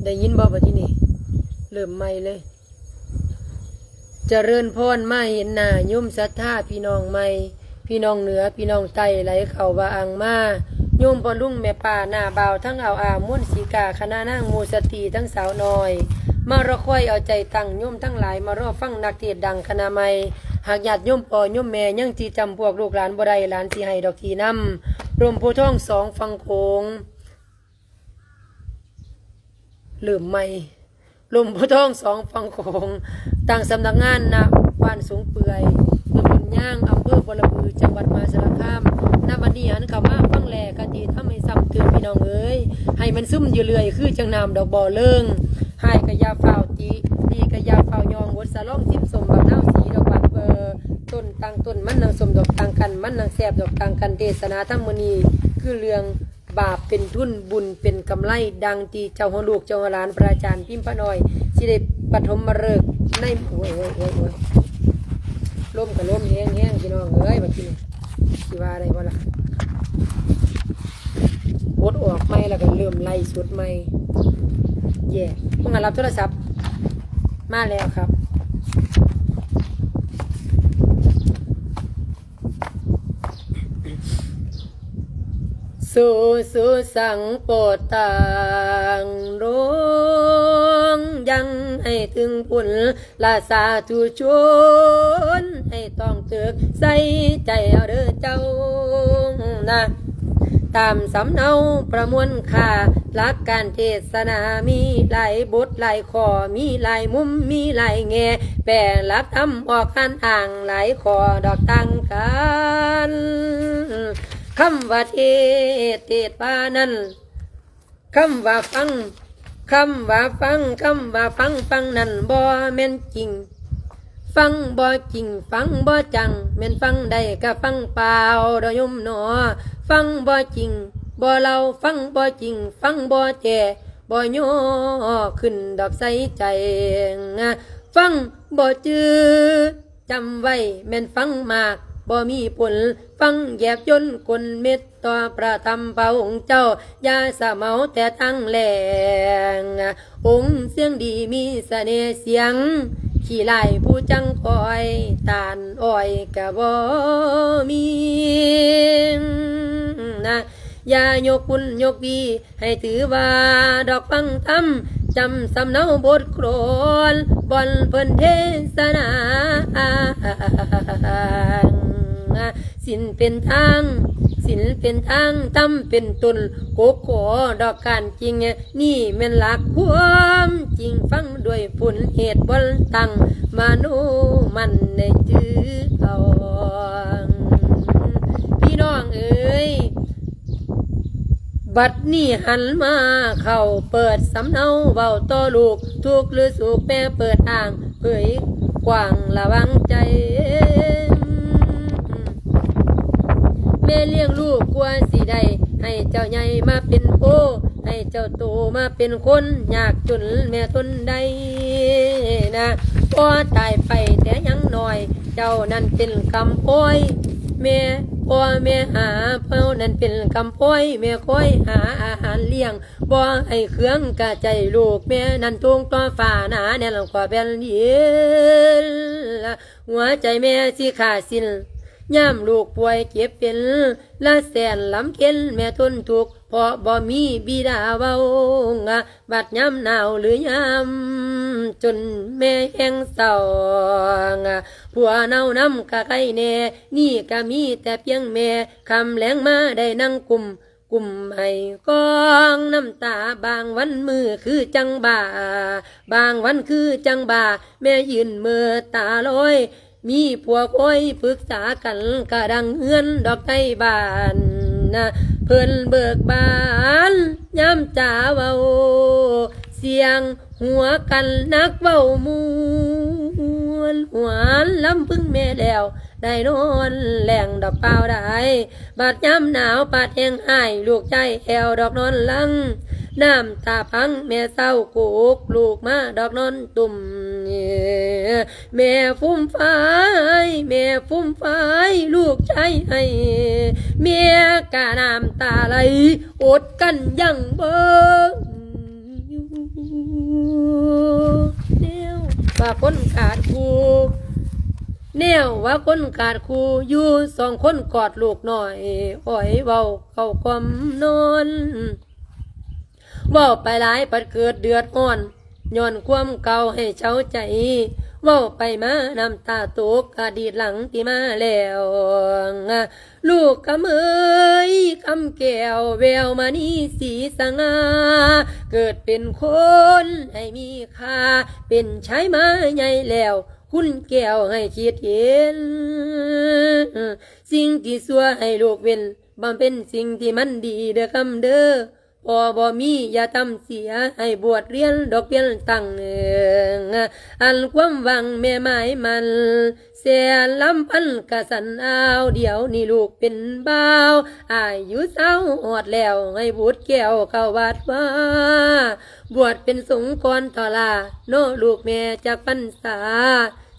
ໄດ້ຍິນບໍ່ບັດທີນີ້? ເລີ່ມໃໝ່ເລີຍ. ຈະເລີນພອນມາເຫັນໜ້າໂຍມສັດທາພີ່ນ້ອງໃໝ່, ພີ່ນ້ອງເໜືອ ພີ່ນ້ອງໃຕ້ ໄຫຼເຂົ້າວ່າອ່າງມາ. ໂຍມພໍ່ລຸງແມ່ປ້າ ນ້າບ່າວ ທັງອາວອາ ມວນສີກາ ຄະນະນາງ ໝູ່ສະຕີ ທັງສາວນ້ອຍ ມາລໍຄອຍເອົາໃຈຕັ້ງ. ໂຍມທັງຫຼາຍມາລໍຟັງນັກເທດດັງຄະນະໃໝ່. ຫາກຍາດໂຍມພໍ່ໂຍມແມ່ຍັງຊິຈຳພວກລູກຫຼານບໍ່ໄດ້, ຫຼານຊິໃຫ້ດອກທີນຳ. ລົມໂພທອງສອງຝັ່ງໂຂງ. ເລີ່ມໃໝ່. ລົມໂພທອງສອງຝັ່ງໂຂງ, ຕັ້ງສຳນັກງານ ນະ ບ້ານສົງເປື່ອຍ ຕຳບົນຍາງ ອຳເພີບໍລະບື ຈັງຫວັດມະຫາສາລະຄາມ. ນະບັດນີ້ຫັນເຂົ້າມາຟັງແລ ຄະຕິທຳໃຫ້ຊ້ຳຕື່ມ ພີ່ນ້ອງເອີຍ, ໃຫ້ມັນຊຶມຢູ່ເລື້ອຍ ຄືຈັ່ງນ້ຳດອກບໍ່ເລີງ. ຮ້າຍກະຢ່າຟ້າວຕິ, ດີກະຢ່າຟ້າວຍ້ອງ, ບົດສະຫຼອງຊິມສົ້ມ ບັກນາວສີດອກບານເປີ, ຕົ້ນຕ່າງຕົ້ນ ມັນນາງສົ້ມດອກຕ່າງກັນ, ມັນນາງແຊບດອກຕ່າງກັນ. ເທດສະໜາທຳມື້ນີ້ ຄືເລື່ອງ ບາບເປັນທຶນ ບຸນເປັນກຳໄລ, ດັ່ງທີ່ເຈົ້າຫົວລູກເຈົ້າຫົວຫຼານ ພະອາຈານພິມພະນ້ອຍ ຊິໄດ້ປະຖົມມະເລີກໃນ ໂອ້ຍ ໂອ້ຍ ໂອ້ຍ ໂອ້ຍ ລົມກະລົມແຮງໆ ພີ່ນ້ອງເອີຍ, ບັດທີນີ້ຊິວ່າໄດ້ບໍ່ລະ? ກົດອອກໃໝ່ ແລ້ວກະເລີ່ມໄລຟ໌ສົດໃໝ່. ແຍ່ ເພິ່ນກະຮັບໂທລະສັບມາແລ້ວຄັບ. ສູ ສູສັງໂປດຕັງ ໂລງ ຍັງໃຫ້ເຖິງພຸ້ນລະສາທຸຊົນ ໃຫ້ຕ້ອງເຕີກໃສ່ໃຈເອົາເດີເຈົ້ານະ. ຕາມສຳເນົາປະມວນຄ່າ ຫຼັກການເທດສະໜາມີຫຼາຍບົດຫຼາຍຂໍ້ ມີຫຼາຍມຸມມີຫຼາຍແງ່ ແປຫຼັກທຳອອກການອ້າງຫຼາຍຂໍ້ດອກຕ່າງກັນ. ຄຳວ່າເທດ ເທດວ່ານັ້ນ ຄຳວ່າຟັງ ຄຳວ່າຟັງ ຄຳວ່າຟັງ ຟັງນັ້ນບໍ່ແມ່ນຈິງ ຟັງບໍ່ຈິງ ຟັງບໍ່ຈັງ ແມ່ນຟັງໄດ້ກະຟັງເປົ່າດອກໂຍມໜໍ. ຟັງບໍ່ຈິງບໍ່ເລົ່າ ຟັງບໍ່ຈິງ ຟັງບໍ່ແຈ ບໍ່ຍໍຂຶ້ນດອກໃສ່ໃຈ. ຟັງບໍ່ຈື່ ຈຳໄວ້ແມ່ນຟັງມາກບໍ່ມີຜົນ ຟັງແຍບຍົນກົນເມັດຕໍ່ພະທຳພະອົງເຈົ້າ ຢ່າສະເໝົາແຕ່ທາງແລງ. ອົງສຽງດີມີສະເໜ່ສຽງ ຂີ້ລ້າຍຜູ້ຈັງຄອຍ ຕານອ້ອຍກະບໍ່ມີນະ. ຢ່າຍົກຄຸນຍົກດີ ໃຫ້ຖືວ່າດອກຟັງທຳ ຈຳສຳເນົາບົດໂຄລນ ບ່ອນເພິ່ນເທສະໜາ ສິນເປັນທາງ ສິນເປັນທາງ ທຳເປັນຕົ້ນ ກົກຂໍດອກການຈິງ ນີ້ແມ່ນຫຼັກຄວາມຈິງ ຟັງດ້ວຍຜົນເຫດ ບ່ອນຕັ້ງມະໂນໝັ້ນໃນຈື່ເອົາ ພີ່ນ້ອງເອີຍ. ບັດນີ້ຫັນມາເຂົ້າເປີດສຳເນົາເວົ້າຕໍ່ລູກ ທຸກຫຼືສຸກແມ່ເປີດອ້າງເຜີຍກວ້າງລະວັງໃຈ ແມ່ລ້ຽງລູກກວ່າຊິໄດ້ ໃຫ້ເຈົ້າໃຫຍ່ມາເປັນໂພ ໃຫ້ເຈົ້າໂຕມາເປັນຄົນ ຍາກຈົນແມ່ທົນໄດ້ນະ ພໍຕາຍໄປແຕ່ຍັງນ້ອຍ ເຈົ້ານັ້ນເປັນກຳພ້ອຍ ແມ່ ພໍ່ແມ່ຫາ ເຈົ້ານັ້ນເປັນກຳພ້ອຍ ແມ່ຄອຍຫາອາຫານລ້ຽງ ບໍ່ໃຫ້ເຄືອງກະໃຈລູກ ແມ່ນັ້ນທຸງຕໍ່ຟ້າໜາແໜ້ນກວ່າແຜ່ນດິນ ຫົວໃຈແມ່ຊິຂາດສິ້ນ ຍາມລູກປ່ວຍເຈັບເປັນ ລະແສນລຳເຄັນແມ່ທົນທຸກ ເພາະບໍ່ມີບິດາເວົ້າ ບັດຍາມໜາວຫຼືຍາມຈົນແມ່ແຮງເສົ້າ ຜົວເນົ່ານຳກະໄຄແນ່ ນີ້ກະມີແຕ່ພຽງແມ່ ຄ່ຳແລງມາໄດ້ນັ່ງກຸມ ກຸມໃຫ້ກອງນ້ຳຕາ ບາງວັນມື້ຄືຈັ່ງບ້າ ບາງວັນຄືຈັ່ງບ້າ ແມ່ຢືນເມີຕາລອຍ ມີພວກຄອຍປຶກສາກັນ ກະດັງເຮືອນດອກໄທບ້ານນະ ເພິ່ນເບີກບານຍາມຈາເວົ້າ ສຽງຫົວກັນນັກເວົ້າມ່ວນ ຫວນລຳພຶງແມ່ແລ້ວ ໄດ້ນອນແລ້ງດອກປ່າວດາຍ ບາດຍາມໜາວປາດແຮງອ້າຍ ລູກຊາຍແອວດອກນອນຫຼັງ ນ້ຳຕາພັງແມ່ເສົ້າ ກຸກລູກມາດອກນອນຕຸ່ມ ແມ່ຟຸມຟາຍ ແມ່ຟຸມຟາຍ ລູກຊາຍໄຫ້ ແມ່ກະນ້ຳຕາໄຫຼ ອົດກັ້ນຢັ້ງບໍ່ຢູ່ ແນວວ່າຄົນຂາດຄູ່ ແນວວ່າຄົນຂາດຄູ່ ຢູ່ສອງຄົນກອດລູກນ້ອຍ ໂອ້ຍ ເວົ້າເຂົ້າຄວາມນອນ ເວົ້າໄປຫຼາຍພັດເກີດເດືອດຮ້ອນ ຍ້ອນຄວາມເກົ່າໃຫ້ເຊົາໃຈ ເວົ້າໄປມານ້ຳຕາຕົກ ອະດີດຫຼັງທີ່ມາແລ້ວ. ລູກຄຳເອີຍ ຄຳແກ້ວ ແວວມະນີສີສະຫງ່າ ເກີດເປັນຄົນໃຫ້ມີຄ່າ ເປັນຊາຍມາໃຫຍ່ແລ້ວ ຄຸນແກ້ວໃຫ້ຄິດເຫັນ ສິ່ງທີ່ຊົ່ວໃຫ້ລູກເວັ້ນ ບຳເພັນສິ່ງທີ່ມັນດີເດີຄຳເດີ ພໍ່ບໍ່ມີຢ່າທຳເສຍ ໃຫ້ບວດຮຽນດອກພຽງຕັ້ງເອີງ ອັນຄວາມຫວັງແມ່ໝາຍໝັ້ນ ແສນລຳພັນກະສັນອາວ ດຽວນີ້ລູກເປັນບ່າວ ອາຍຸຊາວຮອດແລ້ວ ໃຫ້ບຸດແກ້ວເຂົ້າວັດວາ ບວດເປັນສົງກ່ອນເຖາະລະ ເນາະລູກແມ່ຈັກພັນສາ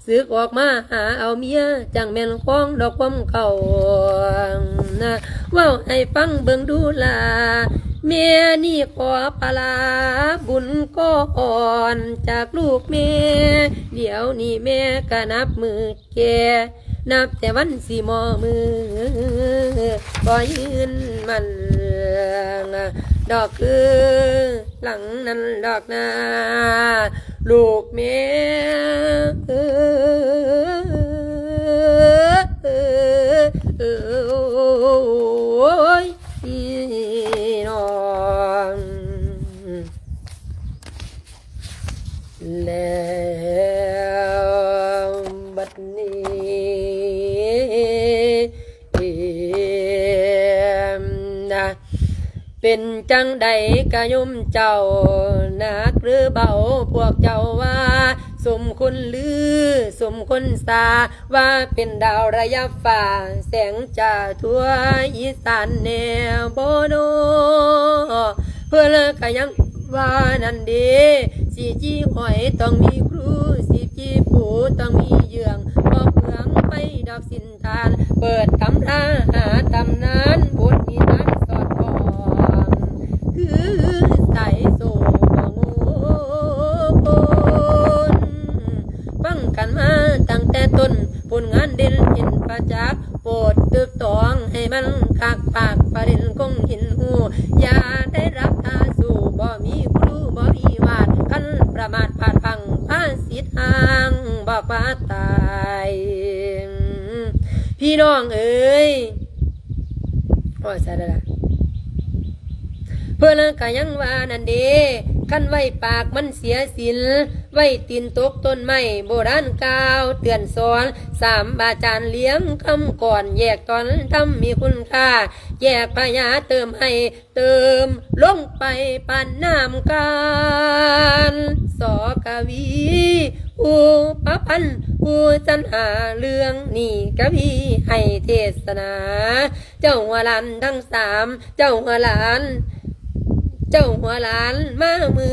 ສຶກອອກມາຫາເອົາເມຍ ຈັ່ງແມ່ນຄອງດອກຄວາມເກົ່ານະ ເວົ້າໃຫ້ຟັງເບິ່ງດູລາ ແມ່ນີ້ຂໍປະລາບຸນກ່ອນຈາກລູກແມ່ ດຽວນີ້ແມ່ກະນັບມື້ແກ່ ນັບແຕ່ວັນຊິມໍ່ມື້ ບໍ່ຍືນໝັ້ນດອກຄື ຫຼັງນັ້ນດອກນາ ລູກແມ່ເອີຍ ໂອ້ຍ ນ້ອງ ແລ້ວບັດນີ້ ເປັນຈັ່ງໃດກະໂຍມເຈົ້າ ໜັກຫຼືເບົາ ພວກເຈົ້າວ່າສົມຄົນລື ສົມຄົນສາ ວ່າເປັນດາວລະຍະຟ້າ ແສງຈາທົ່ວອີສານແນ່ບໍ່ນໍ ເພິ່ນກະຍັງວ່ານັ້ນເດ ຊິຈີ່ຫອຍຕ້ອງມີຄູ ຊິຈີ່ປູຕ້ອງມີເຍືອງ ບໍ່ເປືອງໄຟດອກສິນ ທ່ານເປີດຕຳລາຫາຕຳນານ ບົດນິທານສອດຄ່ອງ ຄືສາຍໂສງໂອນ ຟັງກັນມາຕັ້ງແຕ່ຕົ້ນ ຜົນງານເດັ່ນເຫັນປະຈັກ ໂປດຕຶກຕອງໃຫ້ມັນຄັກປາກປະເດັນຄົງເຫັນຮູ້ ຢ່າໄດ້ລັບຕາສູ້ ບໍ່ມີຄູບໍ່ມີວາດ ຄັນປະໝາດພາດພັ້ງພາສິດຫ້າງ ບອກວ່າຕາຍ ພີ່ນ້ອງເອີຍ ໂອ້ຍ ໃສ່ແລ້ວລະ ເພິ່ນກະຍັງວ່ານັ້ນເດ ຄັນໄວ້ປາກມັນເສຍສິນ ໄວ້ຕີນຕົກຕົ້ນໄມ້ ໂບລານກ່າວເຕືອນສອນ ສາມບາຈານລຽງຄຳກອນ ແຍກຕອນທຳມີຄຸນຄ່າ ແຍກພະຍາເຕີມໃຫ້ ເຕີມລົງໄປປານນ້ຳການ ສ ກະວີ ຜູ້ປະພັນ ຜູ້ສັນຫາເລື່ອງນີ້ ກະວີໃຫ້ເທດສະໜາ ເຈົ້າຫົວຫຼານທັງສາມ ເຈົ້າຫົວຫຼານ ເຈົ້າຫົວຫຼານ ມາມື້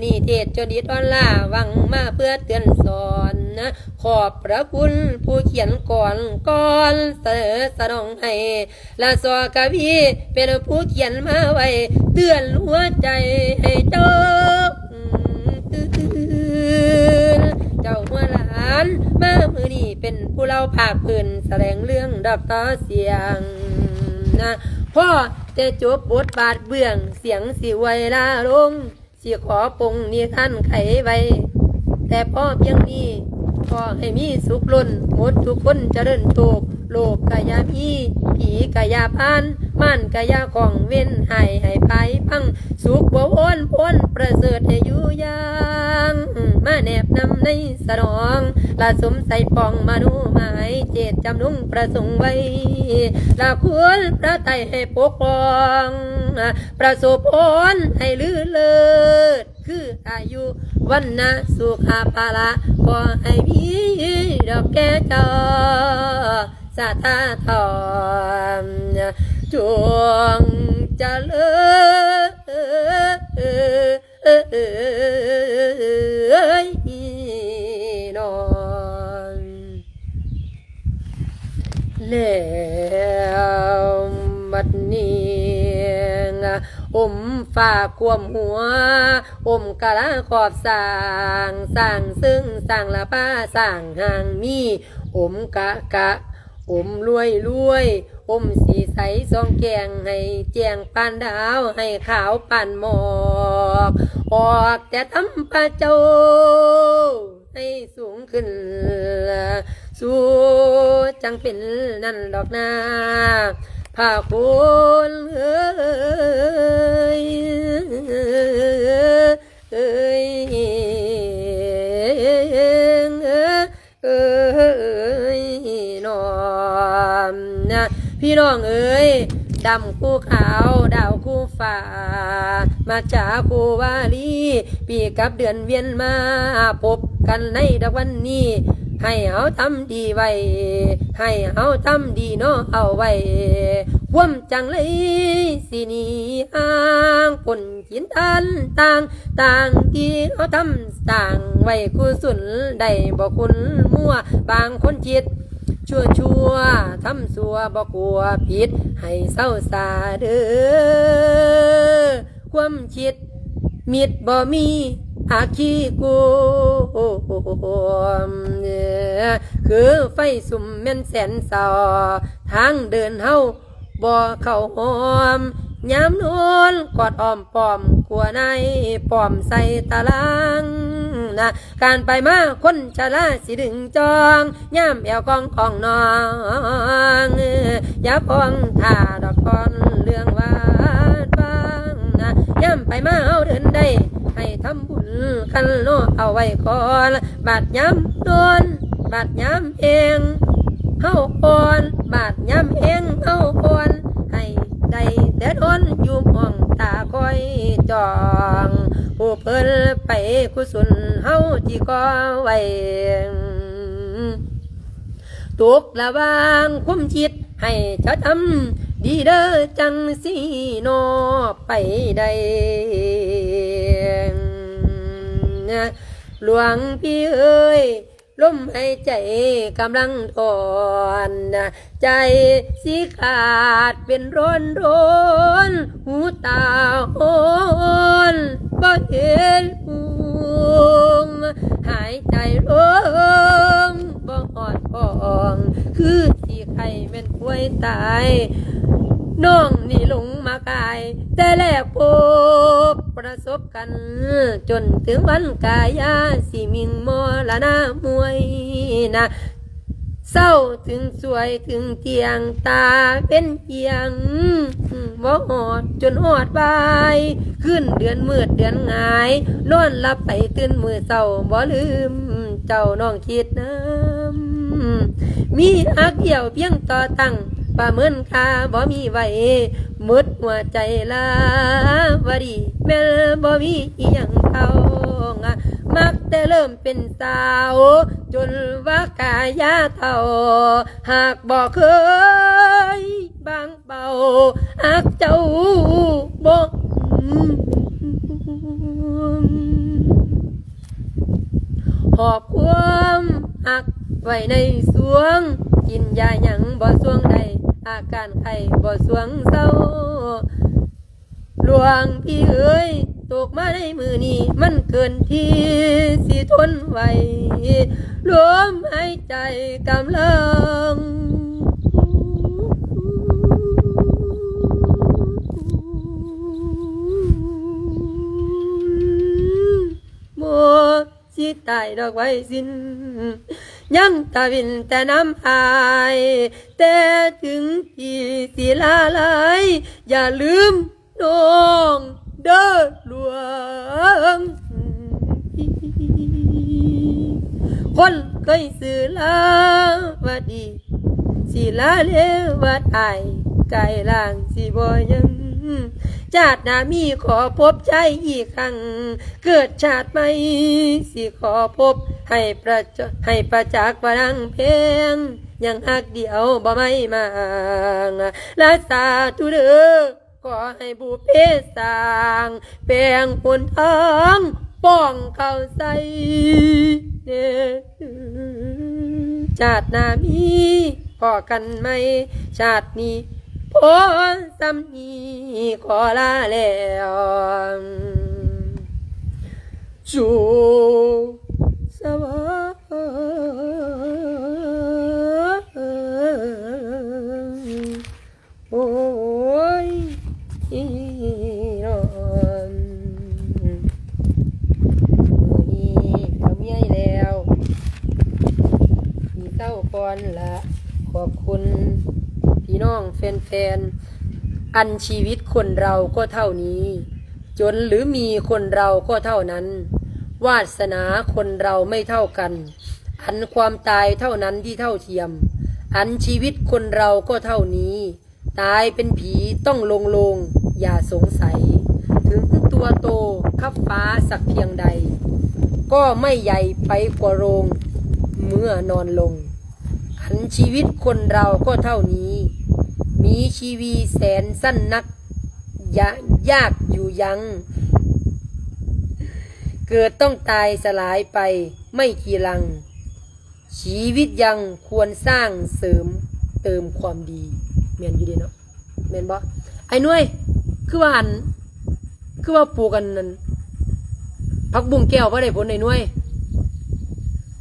ນີ້ເທດຈົນອິດອ່ອນລ້າ ຫວັງມາເພື່ອເຕືອນສອນ ຂອບພະຄຸນຜູ້ຂຽນກອນ ກ່ອນສະເໜີສະໜອງໃຫ້ ລະ ສ ກະວີ ເປັນຜູ້ຂຽນມາໄວ້ ເຕືອນຫົວໃຈໃຫ້ເຈົ້າຕື່ນ ເຈົ້າຫົວຫຼານ ມາມື້ນີ້ເປັນຜູ້ເລົ່າພາກພື້ນ ສະແຫຼງເລື່ອງດອກຕໍ່ສຽງນະ ພໍແຕ່ຈົບບົດບາດເບື້ອງ ສຽງຊິອວຍລາລົງ ຊິຂໍປົງນິທານໄຂໄວ້ ແຕ່ພໍພຽງນີ້ ຂໍໃຫ້ມີສຸກລົ້ນ ໝົດທຸກຄົນຈະເລີນໂຊກ ໂລກກະຢ່າມີ ຜີກະຢ່າຜ່ານ ມານກະຢ່າຂ້ອງ ເວນຮ້າຍໃຫ້ພາຍພັງ ສຸກບໍວອນພົ້ນປະເສີດໃຫ້ຢູ່ຢ່າງ ມາແນບນຳໃນສະໜອງ ລະສົມໃສ່ປ່ອງມະໂນໝາຍ ເຈດຈຳນົງປະສົງໄວ້ ລະຄວນພະໄຕໃຫ້ປົກປ້ອງ ປະສົບພອນໃຫ້ລືເລີດ ຄືອາຍຸວັນນະສຸຂະພະລະ ຂໍໃຫ້ມີດອກແກ່ເຈົ້າ ສາທາທອນ ຈົ່ງຈະເລີນນອນ. ແລ້ວບັດນີ້ ໂອ ອົມຟ້າກວມຫົວ ອົມກະລາຂອບສ້າງ ສ້າງເຊິ່ງສ້າງລະປາ ສ້າງຮ່າງມີ ອົມກະກະ ອົມລວຍລວຍ ອົມສີໃສສ່ອງແຈ້ງ ໃຫ້ແຈ້ງປານດາວ ໃຫ້ຂາວປານໝອກ ອອກແຕ່ທຳພະເຈົ້າ ໃຫ້ສູງຂຶ້ນ ສູ່ຈັ່ງເປັນນັ້ນດອກນາ ພະຄຸນເອີຍ ເອີຍ ເອີຍ ເອີຍ ເອີຍ ນ້ອມນະ ພີ່ນ້ອງເອີຍ ດຳຄູ່ຂາວ ດາວຄູ່ຟ້າ ມາຈາຄູ່ວາລີ ປີກັບເດືອນວຽນມາ ພົບກັນໃນດອກວັນນີ້ ໃຫ້ເຮົາທຳດີໄວ້ ໃຫ້ເຮົາທຳດີເນາະ ເອົາໄວ້ ຄວາມຈັ່ງໄລຊິໜີຫ່າງພົ້ນ ກິນທານຕ່າງ ຕ່າງທີ່ເຮົາທຳສ້າງໄວ້ ກຸສົນໄດ້ບໍ່ຄຸນມົວ ບາງຄົນຄິດຊົ່ວໆ ທຳຊົ່ວບໍ່ກົວຜິດ ໃຫ້ເຊົາຊາເດີ ຄວາມຄິດມິດບໍ່ມີ ອາຄີກວມ ຄືໄຟສຸມແມ່ນແສນເສົ້າ ທາງເດີນເຮົາ ບໍ່ເຂົ້າຫອມ ຍາມນອນກອດອ້ອມປ້ອມ ກົວນາຍປ້ອມໃສ່ຕາລາງນະ ການໄປມາຄົນຊະລາຊິດຶງຈ່ອງ ຍາມແອວກອງຂອງນ້ອງ ຢ່າຟ້ອງຖ້າດອກກ່ອນເລື່ອງວາດວາງນະ ຍາມໄປມາເຮົາເດີນໄດ້ ໃຫ້ທຳບຸນກັນເນາະ ເອົາໄວ້ກ່ອນ ບາດຍາມນອນ ບາດຍາມແອງເຮົາອ່ອນ ບາດຍາມແອງເຮົາອ່ອນ ໃຫ້ໄດ້ແຕ່ນອນຢູ່ຫ້ອງ ຕາຄອຍຈ້ອງ ຜູ້ເພິ່ນໄປກຸສົນເຮົາທີ່ກໍ່ໄວ້ ຕົກລະຫວ່າງຄວາມຄິດ ໃຫ້ເຈົ້າທຳດີເດີ ຈັ່ງຊິເນາະໄປໄດ້ ຫຼວງພີ່ເອີຍ ລົມຫາຍໃຈກຳລັງຖອນ ໃຈຊິຂາດເປັນຮ້ອນໆ ຫູຕາໂຮນ ບໍ່ເຫັນຫຸ່ງ ຫາຍໃຈລົງບໍ່ຮອດຫ້ອງ ຄືຊິໄຂ້ແມ່ນປ່ວຍຕາຍ ນ້ອງນີ້ຫຼົງມາກາຍ ແຕ່ແລກພົບປະສົບ ກັນ ຈົນເຖິງວັນກາຍາຊິມິ່ງມໍລະນະມວຍນະ ເຊົ້າເຖິງສວຍເຖິງທ່ຽງ ຕາເປັນອຽງບໍ່ຮອດ ຈົນຮອດບ່າຍ ຄືນເດືອນມືດເດືອນຫງາຍ ນອນຫຼັບໄປຕື່ນມື້ເຊົ້າ ບໍ່ລືມເຈົ້ານ້ອງຄິດນຳ ມີຮັກດຽວພຽງຕໍ່ຕັ້ງ ປະເມີນຄ່າບໍ່ມີໄວ້ ໝົດຫົວໃຈລາວະດີ ແມ່ນບໍ່ມີອີ່ຫຍັງເທົ່າ ມັກແຕ່ເລີ່ມເປັນສາວ ຈົນວ່າກາຍາເຖົ້າ ຫາກບໍ່ເຄີຍບາງເບົາ ຮັກເຈົ້າບໍ່ຫອບຄວາມຮັກໄວ້ໃນສວງ ກິນຢາຫຍັງບໍ່ສວງໄດ້ ອາການໄຂ້ບໍ່ສວງເຊົາ ຫຼວງພີ່ເອີຍ ຕົກມາໃນມື້ນີ້ ມັນເກີນທີ່ຊິທົນໄຫວ ລົມຫາຍໃຈກຳລັງໝົດ ຊິຕາຍດອກໄວຊິນ ຍັງຕາວິນແຕ່ນ້ຳອາຍ ແຕ່ເຖິງທີ່ຊິລາລາຍ ຢ່າລືມນ້ອງເດີຫຼວງ ຄົນເຄີຍຊື່ລາວະດີ ສິລາເລວະຕາຍ ກາຍຮ່າງສິບໍ່ຍັງ ຈາດໜ້າມີຂໍພົບຊາຍອີກຄັ້ງ ເກີດຊາດໃໝ່ ສິຂໍພົບໃຫ້ປະ ໃຫ້ປະຈັກວ່ານາງແພງ ຍັງຮັກດຽວບໍ່ໄໝ້ມາງ ລາສາທຸເດີ ຂໍໃຫ້ບຸບເພສ້າງ ແປງຫົນທາງປ້ອງເຂົ້າໃສ່ແດ່ ຊາດໜ້າມີພໍ້ກັນໃໝ່ ຊາດນີ້ ພໍສ່ຳນີ້ຂໍລາແລ້ວ ສູ່ສະຫວັນ ໂອ້ຍ ພີ່ນ້ອງ ມື້ນີ້ກໍເມື່ອຍແລ້ວ ຊິເຊົາກ່ອນລະ. ຂອບຄຸນພີ່ນ້ອງແຟນໆ. ອັນຊີວິດຄົນເຮົາກໍເທົ່ານີ້ ຈົນຫຼືມີຄົນເຮົາກໍເທົ່ານັ້ນ ວາດສະໜາຄົນເຮົາໄມ່ເທົ່າກັນ ອັນຄວາມຕາຍເທົ່ານັ້ນທີ່ເທົ່າທຽມ ອັນຊີວິດຄົນເຮົາກໍເທົ່ານີ້ ຕາຍເປັນຜີຕ້ອງໂລ່ງໆ ຢ່າສົງໄສ ເຖິງຕົວໂຕຄັບຟ້າສັກພຽງໃດ ກໍໄມ່ໃຫຍ່ໄປກວ່າໂລງເມື່ອນອນລົງ. ອັນຊີວິດຄົນເຮົາກໍເທົ່ານີ້ ມີຊີວິດແສນສັ້ນນັກ ຢາ ຍາກຢູ່ຍັງ ເກີດຕ້ອງຕາຍສະຫຼາຍໄປໄມ່ກີລັງ ຊີວິດຍັງຄວນສ້າງເສີມເຕີມຄວາມດີ. ແມ່ນຢູ່ເດ້ເນາະ ແມ່ນບໍ່ ອ້າຍໜ່ວຍ? ຄືວ່າອັນ ຄືວ່າປູກອັນນັ້ນ ຜັກບຸ້ງແກ້ວບໍ່ໄດ້ຜົນ ອ້າຍໜ່ວຍ?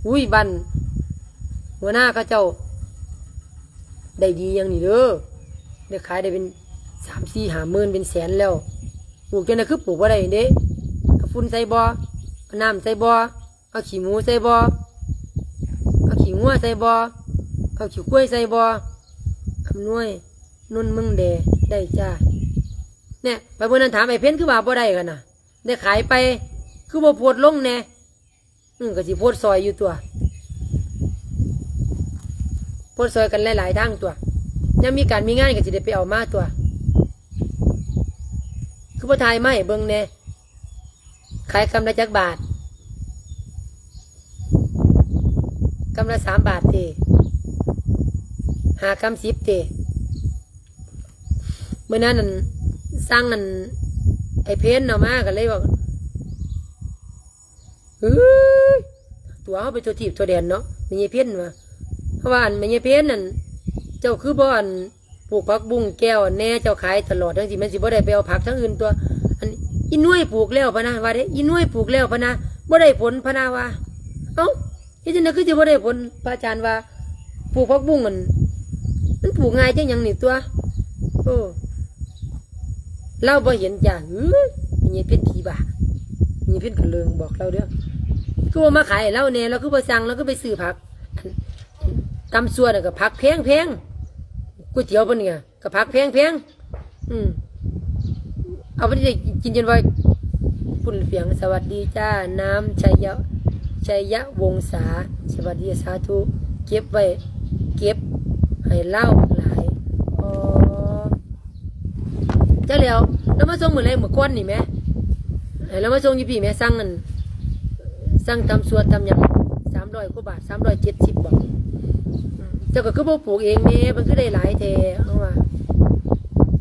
ອຸ້ຍ ບ້ານຫົວໜ້າເຂົາເຈົ້າໄດ້ດີຢ່າງນີ້ເດີ ໄດ້ຂາຍໄດ້ເປັນສາມສີ່ຫ້າໝື່ນ ເປັນແສນແລ້ວ. ປູກຈັ່ງໃດຄືປູກບໍ່ໄດ້ເດ້? ເອົາຝຸ່ນໃສ່ບໍ່? ເອົານ້ຳໃສ່ບໍ່? ເອົາຂີ້ໝູໃສ່ບໍ່? ເອົາຂີ້ງົວໃສ່ບໍ່? ເອົາຂີ້ຄວາຍໃສ່ບໍ່? ອຳນວຍ ນຸນເມືອງແດ ໄດ້ຈ້າ. ແນ່ ໄປມື້ນັ້ນຖາມໄອ້ເພັນ ຄືວ່າບໍ່ໄດ້ກັນນະ ໄດ້ຂາຍໄປ ຄືບໍ່ໂພສລົງແນ່? ອື ກໍຊິໂພສຊ່ອຍຢູ່ຕົວະ ໂພສຊ່ອຍກັນຫຼາຍໆທາງຕົວະ ຍາມມີການມີງານກໍຊິໄດ້ໄປເອົາມາຕົວະ ຄືບໍ່ຖ່າຍມາໃຫ້ເບິ່ງແນ່? ຂາຍກຳລະຈັກບາດ? ກຳລະສາມບາດເຕ? ຫ້າກຳສິບເຕ? ມື້ນັ້ນນັ້ນ ສັ່ງອັນ ໄອ້ເພັນເອົາມາ ກໍເລີຍວ່າ ເອີຍ ຕົວະເຮົາໄປທົ່ວທີບທົ່ວແດນເນາະ ແມ່ໃຫຍ່ເພັນວ່າ ເພາະວ່າອັນ ແມ່ໃຫຍ່ເພັນນັ້ນ ເຈົ້າຄືບໍ່ອັນ ປູກຜັກບຸ້ງແກ້ວແດ່ ເຈົ້າຂາຍຕະຫຼອດຈັ່ງຊີ້ ມັນຊິບໍ່ໄດ້ໄປເອົາຜັກທາງອື່ນຕົວະ. ອັນ ອີ່ໜ່ວຍປູກແລ້ວພະນະ ວ່າເດ້ ອີ່ໜ່ວຍປູກແລ້ວພະນະ ບໍ່ໄດ້ຜົນພະນະວ່າ. ເອົ້າ ເຮັດຈັ່ງໃດຄືຊິບໍ່ໄດ້ຜົນ? ພະອາຈານວ່າ ປູກຜັກບຸ້ງຫັ້ນ ມັນປູກງ່າຍຈັ່ງຫຍັງນີ້ຕົວະ. ໂອ້ ລາວບໍ່ເຫັນຈ້າ ເອີຍ ແມ່ໃຫຍ່ເພັນຜີບ້າ ແມ່ໃຫຍ່ເພັນກະເລີງບອກລາວເດີ້ ຄືບໍ່ມາຂາຍໃຫ້ລາວແດ່ ລາວຄືບໍ່ສັ່ງ ລາວຄືໄປຊື້ຜັກ ຕຳຊົ່ວນັ້ນກໍຜັກແພງໆ ກ໋ວຍຕຽວເພິ່ນນີ້ກໍຜັກແພງໆ ອືມ ເອົາໄປໄດ້ກິນຈົນວ່າ ຝຸ່ນເປືອງ. ສະຫວັດດີຈ້າ ນ້ຳໄຊຍະ ໄຊຍະວົງສາ ສະຫວັດດີ ສາທຸ ເກັບໄວ້ ເກັບໃຫ້ລາວຫຼາຍ ອໍ ຈັກແລ້ວ ລາວມາສົ່ງມື້ໃດ ມື້ກ່ອນນີ້ແໝ ໃຫ້ລາວມາສົ່ງຢູ່ພີ້ແໝ ສັ່ງອັນ ສັ່ງຕຳຊົ່ວຕຳຫຍັງ ສາມຮ້ອຍກວ່າບາດ ສາມຮ້ອຍເຈັດສິບບໍ? ເຈົ້າກໍຄືບໍ່ປູກເອງແດ່ ມັນຄືໄດ້ຫຼາຍແທ້ ເຮົາວ່າ.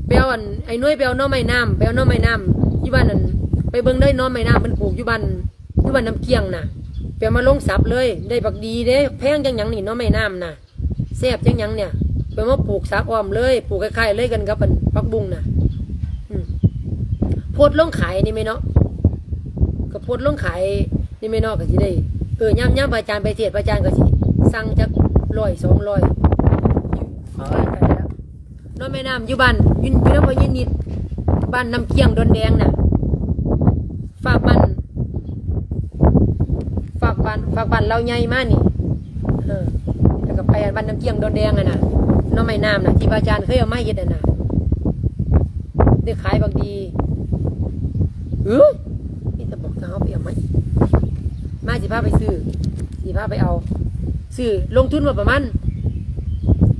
ໄປເອົາອັນ ໄອ້ໜ່ວຍ ໄປເອົາໜໍ່ໄມ້ນ້ຳ ໄປເອົາໜໍ່ໄມ້ນ້ຳຢູ່ບ້ານນັ້ນ ໄປເບິ່ງເດີ ໜໍ່ໄມ້ນ້ຳເພິ່ນປູກຢູ່ບ້ານ ຢູ່ບ້ານນ້ຳກ້ຽງນະ ໄປເອົາມາລົງສັບເລີຍ ໄດ້ບັກດີເດ້ ແພງຈັ່ງຫຍັງນີ້ ໜໍ່ໄມ້ນ້ຳນະ ແຊບຈັ່ງຫຍັງນີ້ ໄປມາປູກສັບອ້ອມເລີຍ ປູກຄ້າຍໆເລີຍກັນກັບອັນ ຜັກບຸ້ງນະ ອືມ ໂພສລົງຂາຍນີ້ແມ່ເນາະ ກໍໂພສລົງຂາຍນີ້ແມ່ເນາະ ກໍຊິໄດ້ ເອີ ຍາມ ຍາມພະອາຈານໄປເທດ ພະອາຈານກໍຊິສັ່ງຈັກຮ້ອຍສອງຮ້ອຍ ເອີຍ ຕາຍແລ້ວ ໜໍ່ໄມ້ນ້ຳຢູ່ບ້ານ ຢູ່ ຢູ່ນຳພໍ່ໃຫຍ່ນິດ ບ້ານນ້ຳກ້ຽງ ດອນແດງນະ ຝາກບ້ານ ຝາກບ້ານ ຝາກບ້ານລາວໃຫຍ່ມານີ້ ເອີ ແລ້ວກໍໄປບ້ານນ້ຳກ້ຽງ ດອນແດງຫັ້ນນະ ໜໍ່ໄມ້ນ້ຳນະ ທີ່ພະອາຈານເຄີຍເອົາມາເຮັດຫັ້ນນະ ໄດ້ຂາຍບັກດີ ເອີຍ ມີແຕ່ບອກເຮົາໄປເອົາມາອີກ ມາຊິພາໄປຊື້ ຊິພາໄປເອົາ ຊື້ລົງທຶນວ່າປະມານ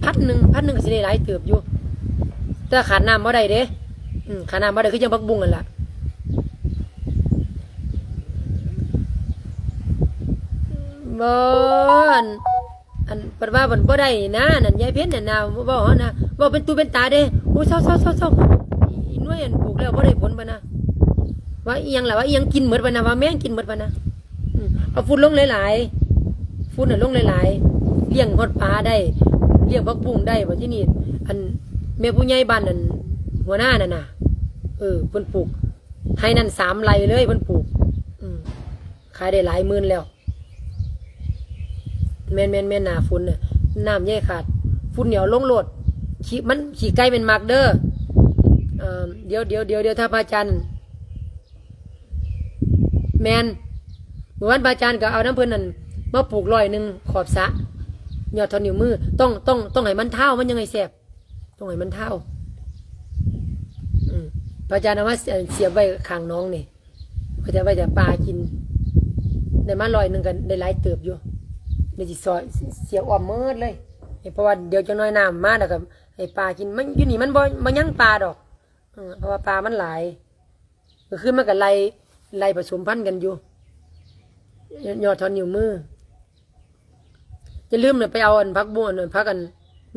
ພັນໜຶ່ງ ພັນໜຶ່ງກໍຊິໄດ້ຫຼາຍເຕີບຢູ່ ແຕ່ຂາດນ້ຳບໍ່ໄດ້ເດ້ ອືມ ຂາດນ້ຳບໍ່ໄດ້ ຄືຈັ່ງຜັກບຸ້ງຫັ້ນລະ ບໍ່ ອັນ ອັນ ເພິ່ນວ່າມັນບໍ່ໄດ້ນະ ນັ້ນ ຍາຍເພັນນັ້ນນະ ເວົ້າຫັ້ນນະ ເວົ້າເປັນຕູເປັນຕາເດ້ ໂອ້ ເຊົາໆໆໆ ອີ່ໜ່ວຍ ອັນ ປູກແລ້ວບໍ່ໄດ້ຜົນ ເພິ່ນນະ ວ່າອີ່ຫຍັງລະ ວ່າອີ່ຫຍັງກິນໝົດ ເພິ່ນນະ ວ່າແມງກິນໝົດ ເພິ່ນນະ ອືມ ເອົາຝຸ່ນລົງຫຼາຍໆ ຝຸ່ນນະລົງຫຼາຍໆ ລ້ຽງຮອດປາໄດ້ ລ້ຽງຜັກບຸ້ງໄດ້ ບັດທີນີ້ ອັນ ແມ່ຜູ້ໃຫຍ່ບ້ານນັ້ນ ຫົວໜ້ານັ້ນນະ ເອີ ເພິ່ນປູກໄຮ່ນັ້ນສາມໄຮ່ເລີຍ ເພິ່ນປູກ ອືມ ຂາຍໄດ້ຫຼາຍໝື່ນແລ້ວ. ແມ່ນໆໆ ໜ້າຝົນນະ ນ້ຳຢ່າໃຫ້ຂາດ ຝຸ່ນນີ້ເອົາລົງໂລດ ຂີ້ ມັນ ຂີ້ໄກ່ແມ່ນມັກເດີ. ເອີ ດຽວໆໆ ຖ້າພະອາຈານ ແມ່ນ ມື້ວານພະອາຈານກໍເອົານຳເພິ່ນນັ້ນມາປູກຮ້ອຍໜຶ່ງຂອບສະ ຍອດເທົ່ານິ້ວມື ຕ້ອງ ຕ້ອງ ຕ້ອງໃຫ້ມັນທາວ ມັນຍັງໃຫ້ແຊບ ຕ້ອງໃຫ້ມັນທາວ. ອືມ ພະອາຈານເອົາມາ ສ- ສຽບໄວ້ຂ້າງໜອງນີ້ ໄວ້ແຕ່ ໄວ້ແຕ່ປາກິນ ໄດ້ມາຮ້ອຍໜຶ່ງກໍໄດ້ຫຼາຍເຕີບຢູ່ ດຽວຊິຊອຍ ສ- ສຽບອ້ອມໝົດເລີຍ ເພາະວ່າດຽວຈັກໜ້ອຍນ້ຳມາແລ້ວກໍໃຫ້ປາກິນ ມັນ ຢູ່ນີ້ມັນບໍ່ ບໍ່ຍັງປາດອກ ເອີ ເພາະວ່າປາມັນຫຼາຍ. ມື້ຄືນມັນກໍໄລ່ ໄລ່ປະສົມພັນກັນຢູ່ ຍ- ຍອດເທົ່ານິ້ວມື. ຢ່າລືມນະ ໄປເອົາອັນຜັກບົ້ງ ອັນ ອັນຜັກ ອັນ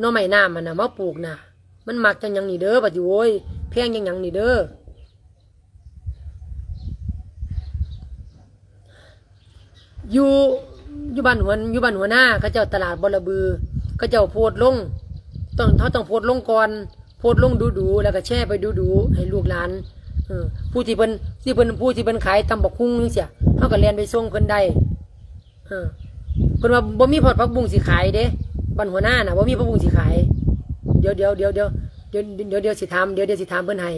ໜໍ່ໄມ້ນ້ຳຫັ້ນນະ ມາປູກນະ ມັນມັກຈັ່ງຫຍັງນີ້ເດີ ບັດນີ້ ໂອ້ຍ ແພງຈັ່ງຫຍັງນີ້ເດີ. ຢູ່ ຢູ່ບ້ານຫົວ ຢູ່ບ້ານຫົວໜ້າ ເຂົາເຈົ້າຕະຫຼາດບໍລະບື ເຂົາເຈົ້າໂພສລົງ ຕ້ອງ ເຮົາຕ້ອງໂພສລົງກ່ອນ ໂພສລົງດູໆ ແລ້ວກໍແຊໄປດູໆ ໃຫ້ລູກຫຼານ ເອີ ຜູ້ທີ່ເພິ່ນ ທີ່ເພິ່ນ ຜູ້ທີ່ເພິ່ນຂາຍຕຳບັກຫຸ່ງຈັ່ງຊີ້ ເຮົາກໍແລ່ນໄປສົ່ງເພິ່ນໄດ້ ເອີ ເພິ່ນວ່າບໍ່ມີຮອດຜັກບຸ້ງຊິຂາຍເດ້ ບ້ານຫົວໜ້ານະ ບໍ່ມີຜັກບຸ້ງຊິຂາຍ. ດຽວ ດຽວ ດຽວ ດຽວ ດຽວ ດຽວ ດຽວຊິຖາມ ດຽວ ດຽວຊິຖາມເພິ່ນໃຫ້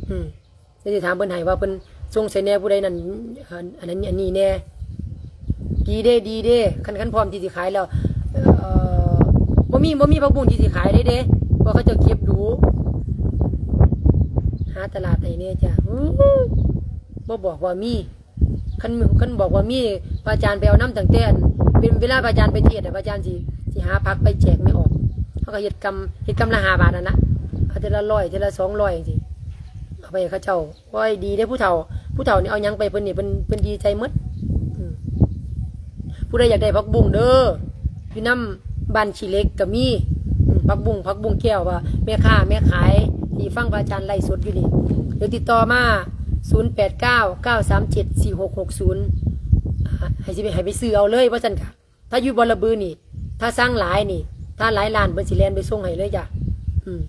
ອືມ. ດຽວຊິຖາມເພິ່ນໃຫ້ວ່າເພິ່ນສົ່ງໃສແດ່ ຜູ້ໃດນັ້ນ ອັນ ອັນນັ້ນ ອັນນີ້ແດ່. ດີເດ້ ດີເດ້ ຄັນ ຄັນພ້ອມທີ່ຊິຂາຍແລ້ວ ເອີ ບໍ່ມີ ບໍ່ມີຜັກບຸ້ງທີ່ຊິຂາຍເດ້ ເພາະເຂົາເຈົ້າເກັບດຸ. ຫາຕະຫຼາດໃຫ້ແດ່ຈ້າ. ບໍ່ບອກວ່າມີ ຄັນ ຄັນບອກວ່າມີ ພະອາຈານໄປເອົານຳຕັ້ງແຕ່ ເປັນເວລາພະອາຈານໄປເທດນະ ພະອາຈານຊິ ຊິຫາຜັກໄປແຈກແມ່ອອກ. ເຮົາກໍເຮັດກຳ ເຮັດກຳລະຫ້າບາດຫັ້ນນະ ເອົາເທື່ອລະຮ້ອຍ ເທື່ອລະສອງຮ້ອຍຈັ່ງຊີ້ ເອົາໄປໃຫ້ເຂົາເຈົ້າ. ໂອ້ຍ ດີເດ້ຜູ້ເຖົ້າ ຜູ້ເຖົ້ານີ້ເອົາຫຍັງໄປເພິ່ນນີ້ ເພິ່ນ ເພິ່ນດີໃຈໝົດ. ອືມ ຜູ້ໃດຢາກໄດ້ຜັກບຸ້ງເດີ ຢູ່ນຳບ້ານຂີ້ເຫຼັກກໍມີ ອືມ ຜັກບຸ້ງ ຜັກບຸ້ງແກ້ວ ວ່າແມ່ຄ້າແມ່ຂາຍທີ່ຟັງພະອາຈານໄລຟ໌ສົດຢູ່ນີ້ ດຽວຕິດຕໍ່ມາ ສູນແປດເກົ້າ ເກົ້າສາມເຈັດ ສີ່ຫົກຫົກສູນ ອ່າ ໃຫ້ຊິໄປ ໃຫ້ໄປຊື້ເອົາເລີຍ ວ່າຊັ້ນກະ. ຖ້າຢູ່ບໍລະບືນີ້ ຖ້າສັ່ງຫຼາຍນີ້ ຖ້າຫຼາຍລ້ານເພິ່ນຊິແລ່ນໄປສົ່ງໃຫ້ເລີຍຈ້າ. ອືມ